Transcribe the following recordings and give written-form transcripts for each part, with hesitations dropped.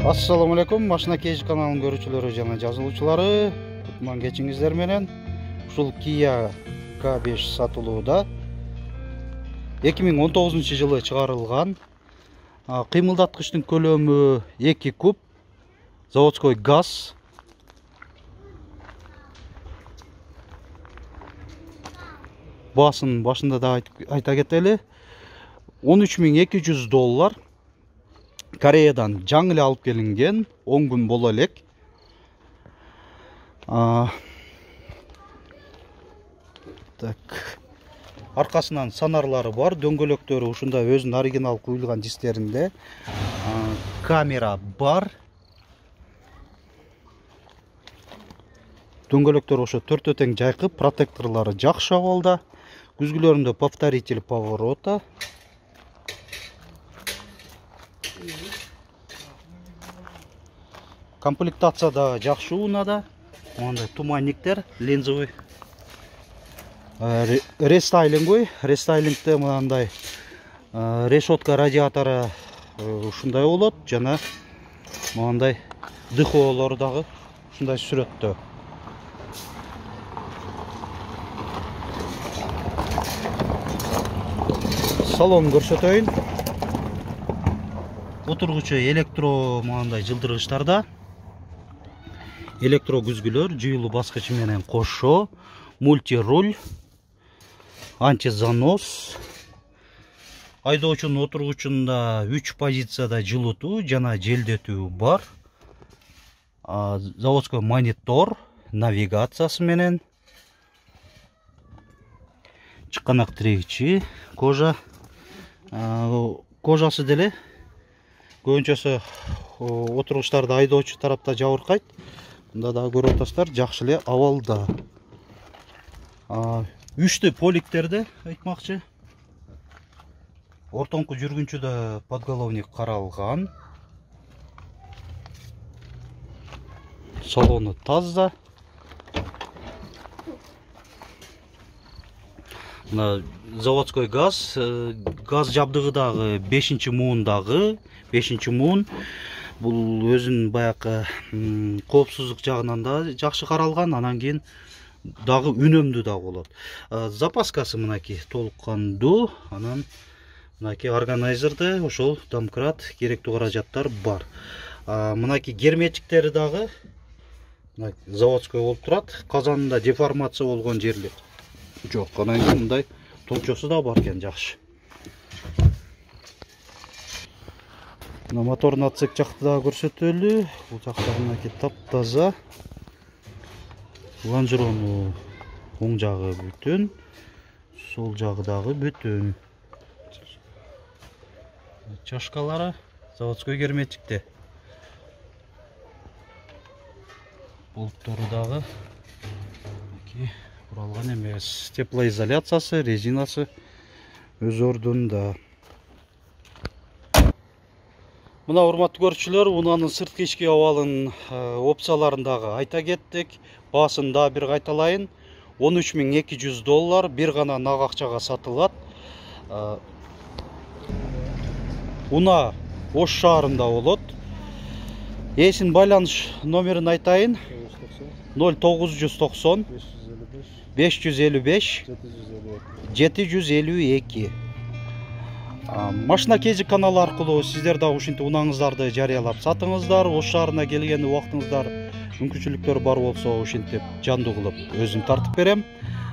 Assalamu alaikum, Машина Кеж каналынын көрүүчүлөрү жана жазылуучулары. Кутман кечиңиздер менен. Ушул Kia K5 сатылууда 2019-жылы чыгарылган. Кыймылдаткычтын көлөмү 2 куб, заводской газ. Баасын башында да айта кетели. $13.200. Кореядан жаңы эле алып келинген, 10 күн боло элек. Аркасынан санарлары бар, дөңгөлөктөрү ушундай өзүнүн оригинал куюлган дистеринде. Камера бар. Дөңгөлөктөр ошо төртөө тең жайкы, протекторлору жакшы абалда. Күзгүлөрүндө повторитель поворота. Комплектация да жакшы уунада. Мындай туманниктер, линзовый. Рестайлингте мындай решетка радиатору ушундай болот, жана мындай дыхоолор дагы ушундай сүрөттө. Салон көрсөтөйүн. Отургучу электро мындай жылдыргычтарда. Электро күзгүлөр, жыйылуу баскычы менен кошо, мультируль, антизанос. Айдоочунун отургучунда 3 позицияда жылытуу жана желдетүү бар. Заводской монитор, навигациясы менен. Чыканак тирегичи, кожасы деле көбүнчөсү отургучтарды айдоочу тарапта жабыркайт. Мында да көрүп атасыздар, жакшы эле абалда. Үчтү поликтерде айтмакчы. Ортоңку жүргүнчүдө подголовник каралган. Салону таза. Мына заводской газ, газ жабдыгы дагы 5-муундагы, 5-муун. Бул өзүнүн баягы коопсуздук жагынан да жакшы каралган, анан кийин дагы үнөмдүү да болот. Запаскасы мынакей толук кандуу, анан мынакей органайзерде ошол домкрат, керектүү каражаттар бар. Мынакей герметиктери дагы заводской болуп турат. Казанында деформация болгон жерлер жок. Анан кийин мындай толчосу да бар экен, жакшы. Моторный отсек жакты да көрсөтөлү. Бул жакта мынакей таптаза. Лонжерону оң жагы бүтүн, сол жагы дагы бүтүн. Чашкалары заводской герметикте. Болттору дагы буралган эмес. Теплоизоляциясы, резинасы өз ордунда. Мына урматтуу көрүүчүлөр, унаанын сырткы ички абалынын опцияларын дагы айта кеттик. Баасын да бир кайталайын. $13.200 бир гана нак акчага сатылат. Уна Ош шаарында болот. Эсин байланыш номерин айтайын. 0990 555 752. Машина Кеж каналы аркылуу сиздер да ушинтип унааңыздарды жарыялап сатыңыздар. Ош шаарына келген убактыңыздар мүмкүнчүлүктөр бар болсо ушинтип жандуу кылып өзүм тартып берем.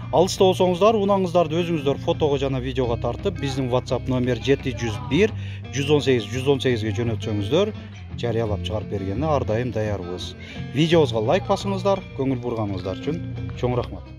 Алыста болсоңуздар, унааңыздарды өзүңүздөр фотого жана видеого тартып, биздин WhatsApp номер 701 118 118ге жөнөтсөңүздөр, жарыялап чыгарып бергенине ар дайым даярбыз. Видеобузга лайк басыңыздар, көңүл бурганыңыздар үчүн чоң рахмат.